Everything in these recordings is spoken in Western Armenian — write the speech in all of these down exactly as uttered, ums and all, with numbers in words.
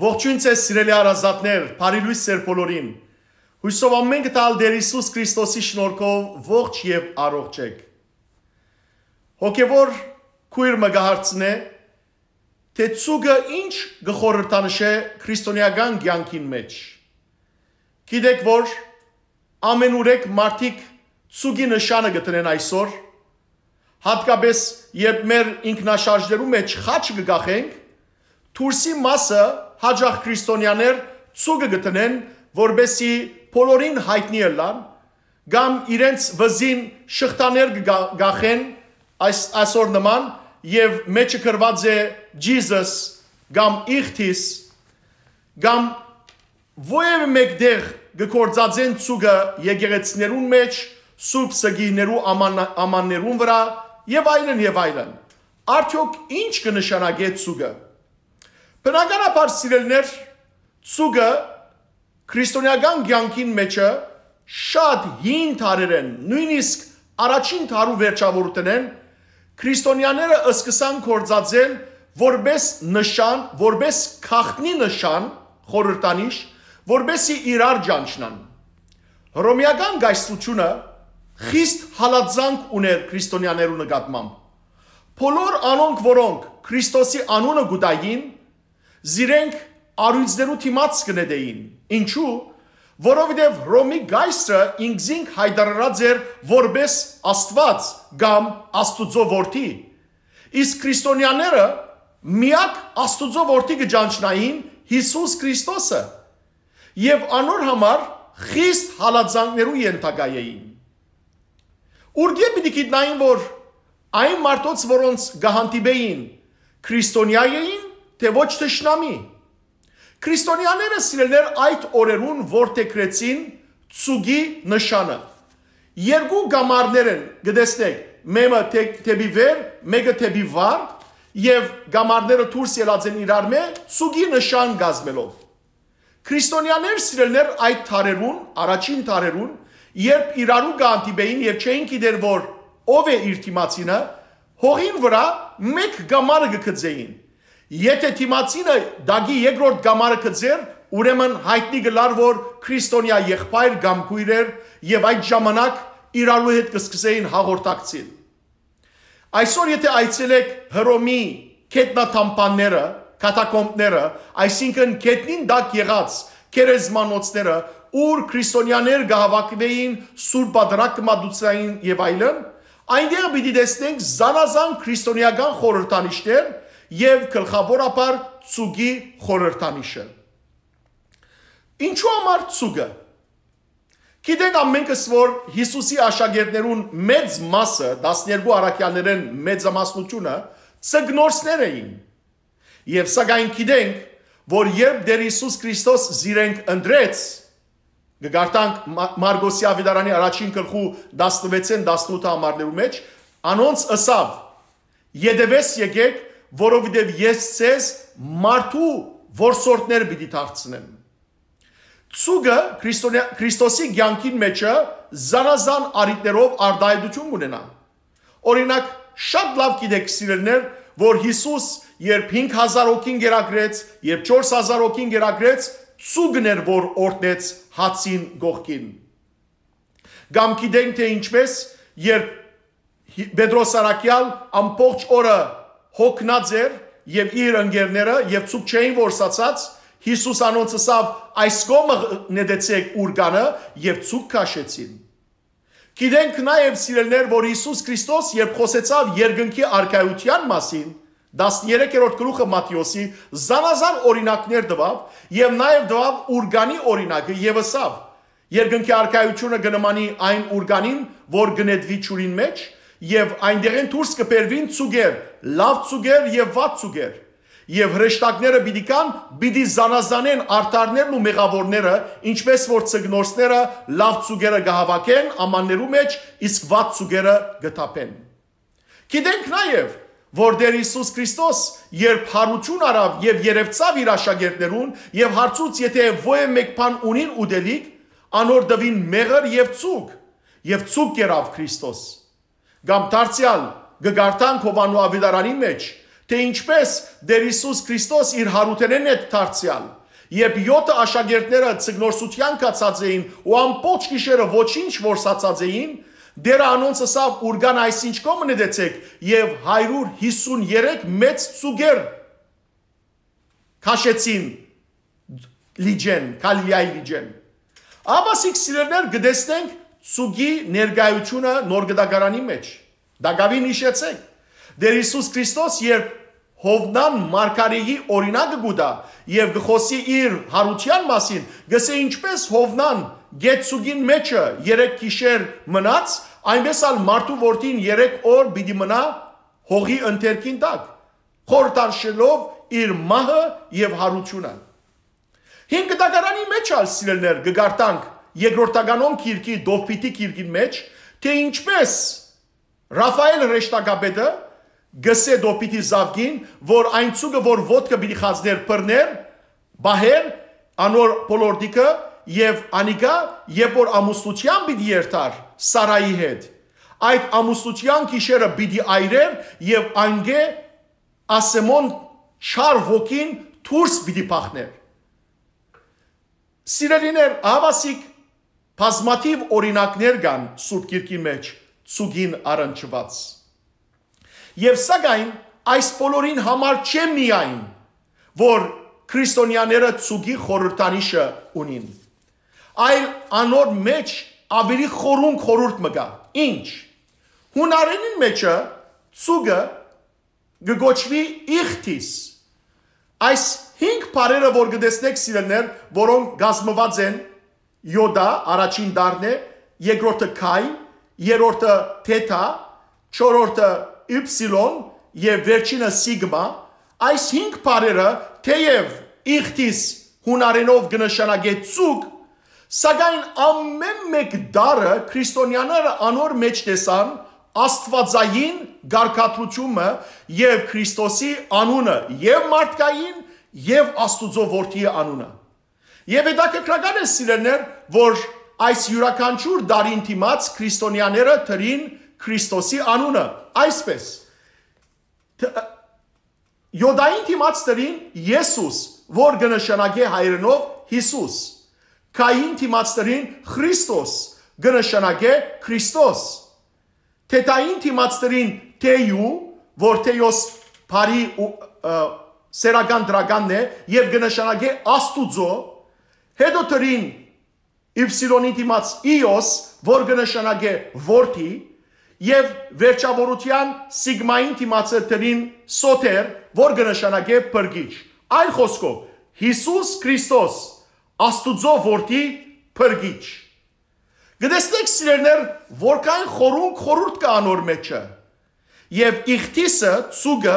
Ողջոյն ձեզ, սիրելի հարազատներ, բարի լոյս ձեր բոլորին։ Հոյսով ամէնքը տալ Տէր Յիսուս Քրիստոսի շնորհքով ողջ եւ առողջ եք։ Հոգեվոր քոյր մը կը հարցնէ, թէ ցուկը ինչ կը խորհրդանշէ քրիստոնեական կեանքին մէջ։ Գիտեք որ ամենուրեք մարդիկ ցուկի նշանը կը տնեն այսօր, հատկապես երբ մեր ինքնաշարժներու մէջ խաչը կը կախենք, դուրսի մասը հաճախ քրիստոնեաներ ցուկը կը տնեն, որպեսզի բոլորին յայտնի ըլլան, կամ իրենց վզին շղթաներ կը կա-, կախեն, այս, այսօր նման, եւ մէջը գրուած է Jesus կամ իղթիս, կամ որեւէ մէկ տեղ կը գործածեն ցուկը եկեղեցիներուն մէջ, սուրբ սգիներու աման-, ամաններուն վրայ, եւ այլն, եւ այլն։ Արդեօք ինչ կը նշանակէ ցուկը։ Բնականաբար, սիրելիներ, ցուկը քրիստոնեական կեանքին մէջը շատ հին դարերէն, նոյնիսկ առաջին դարու վերջաւորութենէն, քրիստոնեաները սկսան գործածել որպէս նշան, որպէս գաղտնի նշան, խորհրդանիշ, որպեսզի իրար ճանչնան։ Հռոմեական կայսրութիւնը խիստ հալածանք ունէր քրիստոնեաներու նկատմամբ։ Բոլոր անոնք, որոնք Քրիստոսի անունը կու տային, զիրենք առիւծներու դիմաց կը նետէին։ Ինչու՞։ Որովհետեւ Հռոմի կայսրը ինքզինք յայտարարած էր որպէս Աստուած կամ Աստուծոյ որդի, իսկ քրիստոնեաները միակ Աստուծոյ որդի կը ճանչնային Յիսուս Քրիստոսը, եւ անոր համար խիստ հալածանքներու ենթակայ էին։ Ուրկէ՞ պիտի գիտնային որ այն մարդոց, որոնց կը հանդիպէին, քրիստոնեայ էին, թէ ոչ թշնամի։ Քրիստոնեաները, սիրելիներ, այդ օրերուն որդեգրեցին ցուկի նշանը։ Երկու կամարներ են, կը տեսնէք, մէկը դէ-, դէպի վեր, մէկը դէպի վար, եւ կամարները դուրս ելած են իրարմէ՝ ցուկի նշան կազմելով։ Քրիստոնեաներ, սիրելիներ, այդ դարերուն, առաջին դարերուն, երբ իրարու կը հանդիպէին եւ չէին գիտեր որ ով է իր դիմացինը, հողին վրայ մէկ կամարը կը գծէին։ Եթէ դիմացինը տակի երկրորդ կամարը գծէր, ուրեմն յայտնի կ'ըլլար որ քրիստոնեայ եղբայր կամ քոյր էր, եւ այդ ժամանակ իրարու հետ կը սկսէին հաղորդակցիլ։ Այսօր եթէ այցելէք Հռոմի գետնատամբանները, կատակոմբները, այսինքն գետնին տակ եղած գերեզմանոցները, ուր քրիստոնեաներ կը հաւաքուէին, սուրբ պատրակ կը մատուցային եւ այլն, այնտեղ պիտի տեսնենք զանազան քրիստոնեական խորհրդանիշներ եւ գլխաւորաբար ցուկի խորհրդանիշը։ Ինչու համար ցուկը։ Գիտենք ամենքս որ Յիսուսի աշակերտներուն մեծ մասը, տասներկու առաքեալներէն մեծամասնութիւնը, ձկնորսներ էին։ Եւ սակայն գիտենք որ երբ Տէր Յիսուս Քրիստոս զիրենք ընտրեց, կը կարդանք Մա-, Մարկոսի Աւետարանի առաջին գլխու տասնվեցէն տասնութ համարներու մէջ, անոնց ըսաւ. «Ետեւէս եկէք, որովհետեւ ես ձեզ մարդու որսորդներ պիտի դարձնեմ»։ Ցուկը Քրիստոնեա-, Քրիստոսի կեանքին մէջը զանազան առիթներով արտայայտութիւն կ'ունենայ։ Օրինակ, շատ լաւ գիտեք, սիրելիներ, որ Յիսուս, երբ հինգ հազար հոգին կերակրեց, երբ չորս հազար հոգին կերակրեց, ցուկն էր որ օրհնեց հացին կողքին։ Կամ գիտենք թէ ինչպէս, երբ Հի-, Պետրոս առաքեալ ամբողջ օրը հոգնած էր, եւ իր ընկերները, եւ ցուկ չէին որսացած, Յիսուս անոնց ըսաւ. «Այս կողմը նետեցէք ուրկանը», եւ ցուկ քաշեցին։ Գիտենք նաեւ, սիրելիներ, որ Յիսուս Քրիստոս, երբ խօսեցաւ երկնքի առկայութեան մասին, տասներեքերորդ գլուխը Մատթէոսի, զանազան օրինակներ տուաւ, եւ նաեւ տուաւ ուրկանի օրինակը, եւ ըսաւ. «Երկնքի առկայութիւնը կը նմանի այն ուրկանին, որ կը նետուի ջուրին մէջ, եւ այնտեղէն դուրս կը բերուին ցուկեր, լաւ ցուկեր եւ վատ ցուկեր։ Եւ հրեշտակները պիտի գան, պիտի զանազանեն արդարներն ու մեղաւորները, ինչպէս որ ձկնորսները լաւ ցուկերը կը հաւաքեն ամաններու մէջ, իսկ վատ ցուկերը կը թափեն»։ Գիտենք նաեւ, որ Տէր Յիսուս Քրիստոս, երբ յարութիւն առաւ եւ երեւցաւ իր աշակերտներուն եւ հարցուց, եթէ ոեւ մէկ բան ունին ուտելիք, անոր տուին մեղր եւ ցուկ, եւ ցուկ կերաւ Քրիստոս։ Կամ դարձեալ, կը կարդանք Յովհաննու աւետարանին մէջ, թէ ինչպէս Տէր Յիսուս Քրիստոս իր յարութենէն հետ դարձեալ, երբ եօթը աշակերտները ձկնորսութեան գացած էին ու ամբողջ գիշերը ոչինչ որսացած էին, Տէրը անոնց ըսաւ. «Ուրկան այսինչ կողմը նետեցէք», եւ հարիւր յիսուն երեք մեծ ծուկեր քաշեցին լիճէն, Գալիլիայի լիճէն։ Ահա սիրելիներ, կը տեսնենք ծուկի ներկայութիւնը Նոր Կտակարանի մէջ։ Տակաւին յիշեցէք, Տէր Յիսուս Քրիստոս, երբ Յովնան մարգարէի օրինակը կու տայ եւ կը խօսի իր յարութեան մասին, կ'ըսէ. «Ինչպէս Յովնան գետ ծուկին մէջը երեք գիշեր մնաց, այնպէս ալ մարդու որդին երեք օր պիտի մնայ հողի ընթերքին տակ, խորհրդանշելով իր մահը եւ յարութիւնը»։ Հին Կտակարանի մէջ ալ, սիրելիներ, կը կարդանք երկրորդականոն գիրքի, Տովբիթի գիրքին մէջ, թէ ինչպէս Ռաֆայէլ հրեշտակապետը կ'ըսէ Տովբիթի զաւկին, որ այն ծուկը, որ ոտքը պիտի խածներ, բռներ, պահեր անոր բոլորտիքը, եւ անիկա, երբ որ ամուսնութեան պիտի երթար Սարայի հետ, այդ ամուսնութեան գիշերը պիտի այրէր եւ անկէ ասեմոն չար ոգին դուրս պիտի բախներ։ Սիրելիներ, ահա սիկ բազմաթիւ օրինակներ կան Սուրբ Գիրքի մէջ ծուկին առնչուած։ Եւ սակայն այս բոլորին համար չէ միայն, որ քրիստոնյաները ծուկի խորհրդանիշը ունին, այլ անոր մէջ աւելի խորունկ խորհուրդ մը կայ։ Ինչ։ Յունարէնին մէջը ծուկը կը կոչուի իղթիս։ Այս հինգ բառերը, որ կը տեսնէք, սիրելիներ, որոնք կազմուած են յոդա, առաջին տառն է, երկրորդը քայ, երրորդը թեթա, չորրորդը իպսիլոն եւ վերջինը սիգմա, այս հինգ բառերը, թէեւ իղթիս յունարէնով կը նշանակէ ծուկ, սակայն ամէն մէկ տառը քրիստոնյաները անոր մէջ տեսան աստուածային կարգադրութիւնը եւ Քրիստոսի անունը, եւ մարդկային, եւ Աստուծոյ Որդիի անունը։ Եւ հետաքրքրական է, սիրելիներ, որ այս իւրաքանչիւր տառին դիմաց քրիստոնյաները դրին Քրիստոսի անունը, այսպէս. յոդային դիմաց դրին Եսուս, որ կը նշանակէ հայերէնով Յիսուս։ Քային դիմաց դրին Խրիստոս, կը նշանակէ Քրիստոս։ Թեթային դիմաց դրին Թեու, որ Թեոս բարի ու, ը, սեռական դրականն է, եւ կը նշանակէ Աստուծոյ։ Հետո դրին Իպսիլոնի դիմաց Իոս, որ կը նշանակէ որդի, եւ վերջաւորութեան Սիգմային դիմացը դրին Սոթեր, որ կը նշանակէ փրկիչ։ Այլ խօսքով, Յիսուս Քրիստոս, Աստուծոյ Որդի, փրկիչ։ Կը տեսնէք, սիրելիներ, որքան խորունկ խորհուրդ կայ անոր մէջը։ Եւ իղթիսը, ծուկը,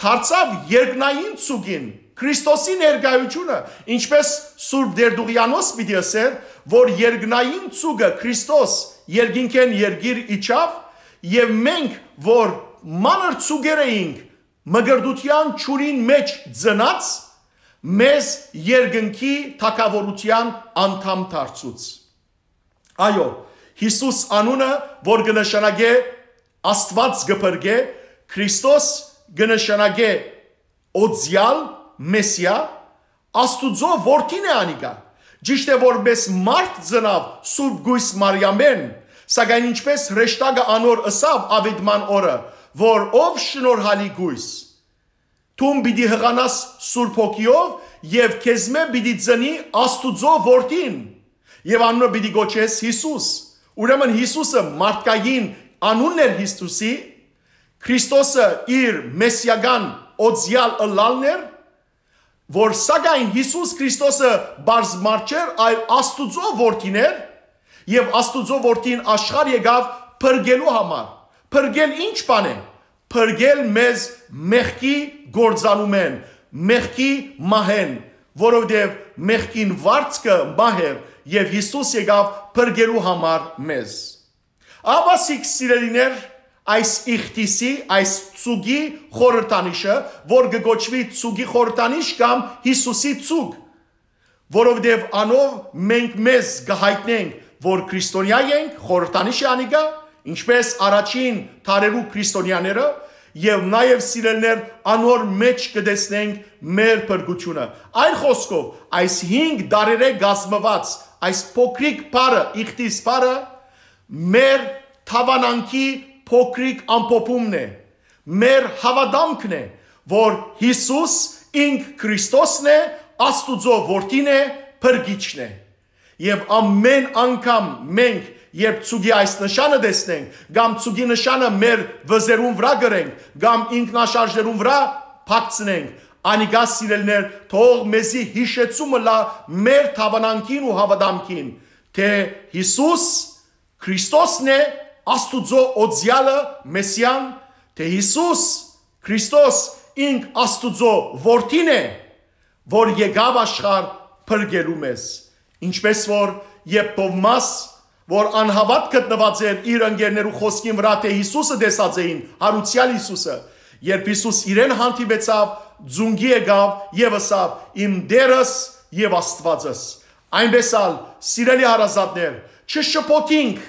դարձաւ երկնային ծուկին, Քրիստոսի ներկայութիւնը, ինչպէս Սուրբ Տերտուղեանոս պիտի ըսէր, որ երկնային ծուկը, Քրիստոս, երկինքէն երկիր իջաւ, եւ մենք, որ մանր ծուկեր էինք, մկրտութեան ջուրին մէջ ծնած, մեզ երկնքի թագաւորութեան անդամ դարձուց։ Այո, Յիսուս անունը, որ կը նշանակէ Աստուած կը փրկէ, Քրիստոս կը նշանակէ օծեալ, Մեսիա, Աստուծոյ Որդին է անիկա։ Ճիշդ է, որպէս մարդ ծնաւ Սուրբ Կոյս Մարիամէն, սակայն ինչպէս հրեշտակը անոր ըսաւ աւետման օրը, որ ով շնորհալի կոյս, դուն պիտի յղանաս Սուրբ Հոգիով եւ քեզմէ պիտի ծնի Աստուծոյ Որդին, եւ անունը պիտի կոչես Յիսուս։ Ուրեմն Յիսուսը մարդկային անունն էր Յիսուսի, Քրիստոսը իր մեսիական օծեալ ըլլալն էր, որ սակայն Յիսուս Քրիստոսը պարզ մարդ չէր, այլ Աստուծոյ Որդին էր, եւ Աստուծոյ Որդին աշխարհ եկաւ փրկելու համար։ Փրկել ի՞նչ բան է։ Փրկել մեզ մեղքի գործանումէն, մեղքի մահէն, որովհետեւ մեղքին վարձքը մահ էր, եւ Յիսուս եկաւ փրկելու համար մեզ։ Ահա սիկ, սիրելիներ, այս իղթիսի, այս ծուկի խորհրդանիշը, որ կը կոչուի ծուկի խորհրդանիշ կամ Յիսուսի ծուկ, որովհետեւ անով մենք մեզ կը յայտնենք, որ քրիստոնեայ ենք, խորհրդանիշ է անիկա, ինչպէս առաջին դարերու քրիստոնեաները, Եւ նաեւ, սիրելիներ, անոր մէջ կը տեսնենք մեր փրկութիւնը։ Այլ խօսքով, այս հինգ դարերէ կազմուած այս փոքրիկ բառը, իխտիս բառը, մեր թաւանանքի փոքրիկ ամփոփումն է, մեր հաւատամքն է, որ Յիսուս ինք Քրիստոսն է, Աստուծոյ որդին է, փրկիչն է։ Եւ ամէն անգամ մենք, երբ ցուկի այս նշանը տեսնենք, կամ ցուկի նշանը մեր վզերուն վրայ կրենք, կամ ինքնաշարժերուն վրայ փակցնենք, անիկա, սիրելիներ, թող մեզի յիշեցումը լա մեր թաւանանքին ու հաւատամքին, թէ Յիսուս Քրիստոսն է, Աստուծոյ օծեալը, Մեսիան, թէ Յիսուս Քրիստոս ինք Աստուծոյ որդին է, որ եկաւ աշխարհ փրկելու մեզ։ Ինչպես որ երբ Թովմաս, որ անհաւատ գտնուած էր իր ընկերներու խօսքին վրայ, թէ Յիսուսը տեսած էին, յարուցեալ Յիսուսը, երբ Յիսուս իրեն հանդիպեցաւ, ծունկի եկաւ եւ ըսաւ. «Իմ Տէրս եւ Աստուածս»։ Այնպէս ալ, սիրելի հարազատներ, չշփոթինք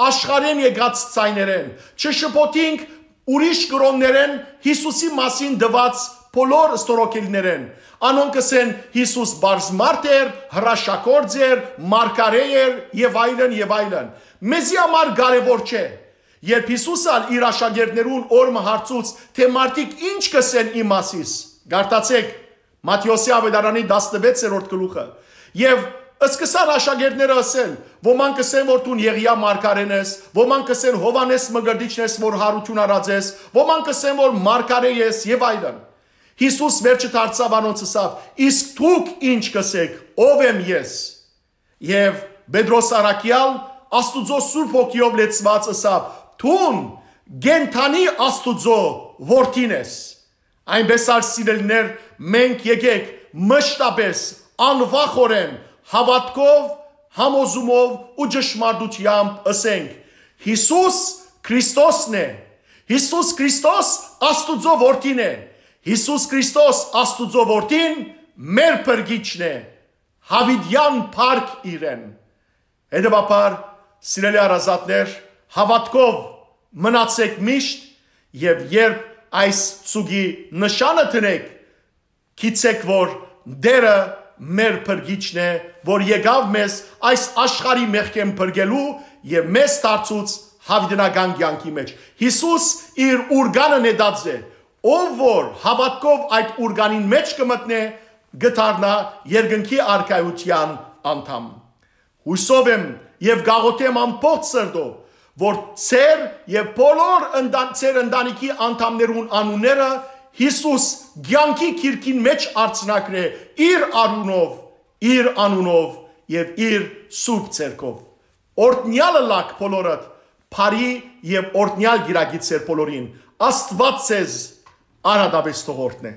աշխարհէն եկած ձայներէն, չշփոթինք ուրիշ կրօններէն Յիսուսի մասին տուած բոլոր ստորոգելիներէն։ Անոնք կ'ըսեն. «Յիսուս պարզ մարդ էր, հրաշագործ էր, մարգարէ էր» եւ այլն, եւ այլն։ Մեզի համար կարեւոր չէ։ Երբ Յիսուս ալ իր աշակերտներուն օր մը հարցուց, թէ մարդիկ ի՞նչ կ'ըսեն իմ մասիս, կարդացէք Մատթէոսի աւետարանի տասնվեցերորդ գլուխը։ Եւ սկսան աշակերտները ըսել. «Ոմանք կ'ըսեն, որ դուն Եղիա մարգարէն ես, ոմանք կ'ըսեն, Յովհաննէս Մկրտիչն ես, որ յարութիւն առած ես, ոմանք կ'ըսեն, որ մարգարէ ես» եւ այլն։ Յիսուս վերջը դարձաւ անոնց, ըսաւ. «Իսկ դուք ի՞նչ կ'ըսեք, ո՞վ եմ ես»։ Եւ Պետրոս առաքեալ, Աստուծոյ Սուրբ Հոգիով լեցուած, ըսաւ. «Դուն կենդանի Աստուծոյ որդին ես»։ Այնպէս ալ, սիրելիներ, մենք եկեք մշտապէս անվախօրէն հաւատքով, համոզումով ու ճշմարտութեամբ ըսենք. «Յիսուս Քրիստոսն է»։ Յիսուս Քրիստոս Աստուծոյ որդին է։ Յիսուս Քրիստոս Աստուծոյ որդին մեր փրկիչն է։ Յաւիտեան փառք իրեն։ Հետեւաբար, սիրելի հարազատներ, հաւատքով մնացեք միշտ, եւ երբ այս ցուկի նշանը դնեք, գիտցէք, որ Տէրը մեր փրկիչն է, որ եկաւ մեզ այս աշխարհի մեղքէն փրկելու եւ մեզ դարձուց յաւիտենական կեանքի մէջ։ Յիսուս իր ուրկանը նետած է։ Ով որ հաւատքով այդ ուրկանին մէջ կը մտնէ, կը դառնայ երկնքի արքայութեան անդամ։ Յուսով եմ եւ կաղոթեմ ամբողջ սրտով, որ ձեր եւ բոլոր ընտան-, ձեր ընտանիքի անդամներուն անունները Յիսուս կեանքի գիրքին մէջ արձանագրէ իր անունով, իր անունով եւ իր սուրբ ձեռքով։ Օրհնեալը լաք բոլորդ, բարի եւ օրհնեալ կիրակի ձեր բոլորին։ Աստուած ձեզ արհատապէս թող օրհնէ։